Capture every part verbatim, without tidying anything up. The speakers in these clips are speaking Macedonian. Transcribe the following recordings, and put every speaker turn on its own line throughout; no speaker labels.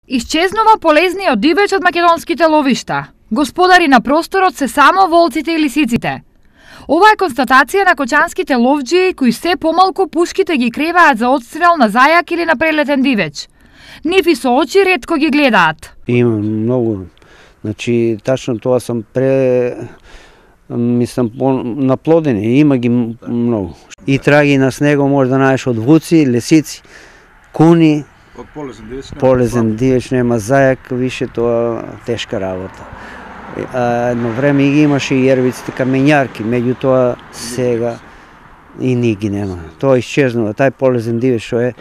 Исчезнува полезниот дивеч од македонските ловишта. Господари на просторот се само волците и лисиците. Ова е констатација на кочанските ловџии кои се помалку пушките ги креваат за одстрел на зајак или на прелетен дивеч. Нив и со очи ретко ги гледаат.
Има многу. Значи, тачно тоа сам пре... мислам, наплодени, има ги многу. И траги на снего може да најдеш од вуци, лисици, куни,
од полезен дивеч нема,
полезен дивеч нема зајак, више тоа тешка работа. А, едно време ги имаше и ервиците камењарки, меѓутоа сега и ни ги нема. Тоа исчезнува, тај полезен дивеч што е.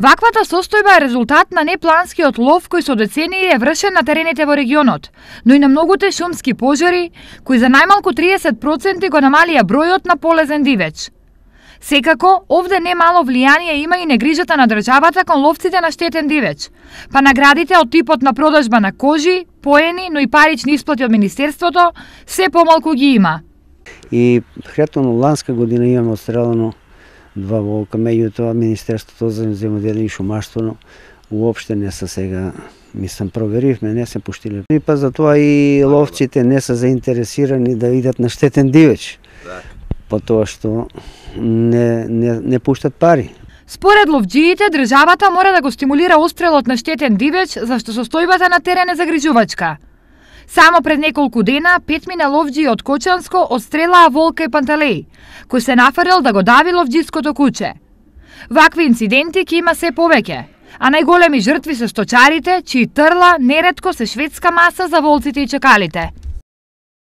Ваквата состојба е резултат на непланскиот лов кој со децении е вршен на терените во регионот, но и на многуте шумски пожари кои за најмалку триесет проценти го намалија бројот на полезен дивеч. Секако, овде немало влијание има и негрижата на државата кон ловците на штетен дивеч, па наградите од типот на продажба на кожи, поени, но и парични исплати од Министерството, се помалку ги има.
И претhodно ланска година имаме отстрелано два волка, меѓутоа Министерството за земјоделие и шумарство уопште не се сега, мислам, проверивме, не се пуштиле. И па затоа и ловците не се заинтересирани да идат на штетен дивеч, по тоа што не, не, не пуштат пари.
Според ловџиите, државата мора да го стимулира отстрелот на штетен дивеч, зашто состојбата на терен е загрижувачка. Само пред неколку дена, петмина ловџии од Кочанско отстрелаа волка и панталеј, кој се нафрел да го дави ловџиското куче. Вакви инциденти ќе има се повеќе, а најголеми жртви се сточарите, чии трла неретко се шведска маса за волците и чакалите.